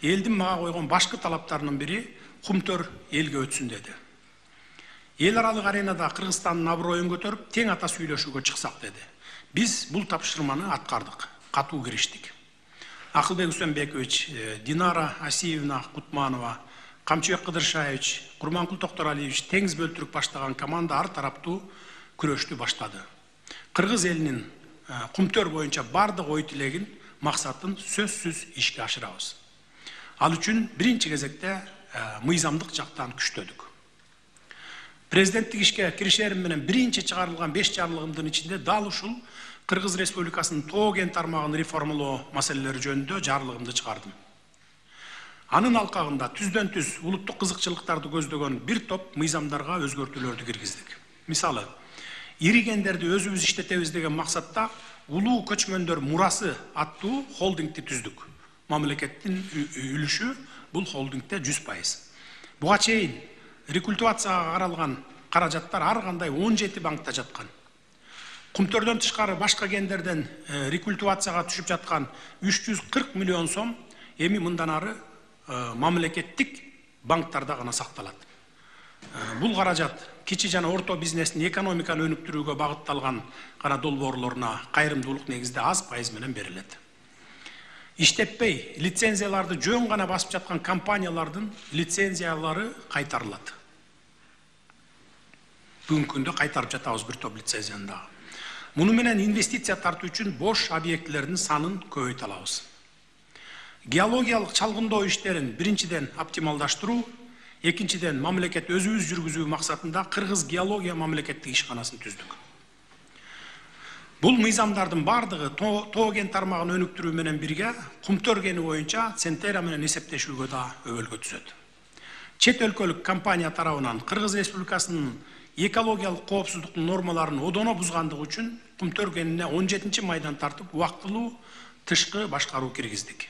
элдин мага койгон башкы талаптарынын бири Кумтөр элге өтсүн деди. Эл аралык аренада Кыргызстандын аброюн көтөрүп, тең ата сүйлөшүүгө чыксак деди. Биз бул тапшырманы аткардык, катуу кириштик. Акылбек Үсөнбекович, Динара Асиевна Кутманова, Камчыбек Кыдыршаевич, Курманкул Токторалиевич теңиз бөлтүрүп баштаган команда ар тараптуу күрөштү баштады. Кыргыз элинин Кумтөр боюнча бардык ой тилегин, максатын сөзсүз ишке ашырабыз. Ал үчүн биринчи кезекте мыйзамдык жактан күчтөдүк. Президенттик ишке киришерим менен биринчи чыгарылган 5 жарлыгымдын ичинде дал ушул Кыргыз Республикасынын тоо кен тармагын реформалоо маселелери жөнүндө жарлыгымды чыгардым. Анын алкагында түздөн түз улуттук кызыкчылыктарды көздөгөн бир топ мыйзамдарга өзгөртүүлөрдү киргиздик. Мисалы, ири кендерди өзүбүз иштетебиз деген максатта улуу көчмөндөр мурасы аттуу холдингди түздүк. Мамлекеттин үлүшү бул холдингде 100%. Буга чейин рекультивацияга каралган каражаттар ар кандай 17 банкта жаткан. Кумтөрдөн тышкары башка кендерден рекультивацияга түшүп жаткан 340 миллион сом эми мындан ары мамлекеттик банктарда гана сакталат. Бул каражат кичи жана орто бизнестин экономиканы өнүктүрүүгө багытталган гана долбоорлоруна кайрымдуулук негизде аз пайыз менен берилет. Иштеппей, лицензияларды жөн гана басып жаткан компаниялардын лицензиялары кайтарылат. Бүгүнкү күндө кайтарып жатабыз бир топ лицензияны дагы. Муну менен инвестиция тартуу үчүн бош объектилердин санын көбөйтө алабыз. Геологиялык чалгындоо иштерин биринчиден оптималдаштыруу, экинчиден мамлекет өзүбүз жүргүзүү максатында Кыргыз геология мамлекеттик ишканасын түздүк. Бул мыйзамдардын бардыгы тоо кен тармагын өнүктүрүү менен бирге Кумтөр кени боюнча Центера менен эсептешүүгө да өбөлгө түзөт. Чет өлкөлүк компания тарабынан Кыргыз Республикасынын экологиялык коопсуздуктун нормаларын одоно бузгандыгы үчүн Кумтөр кенине 17 майдан тартып убактылуу тышкы башкаруу киргиздик.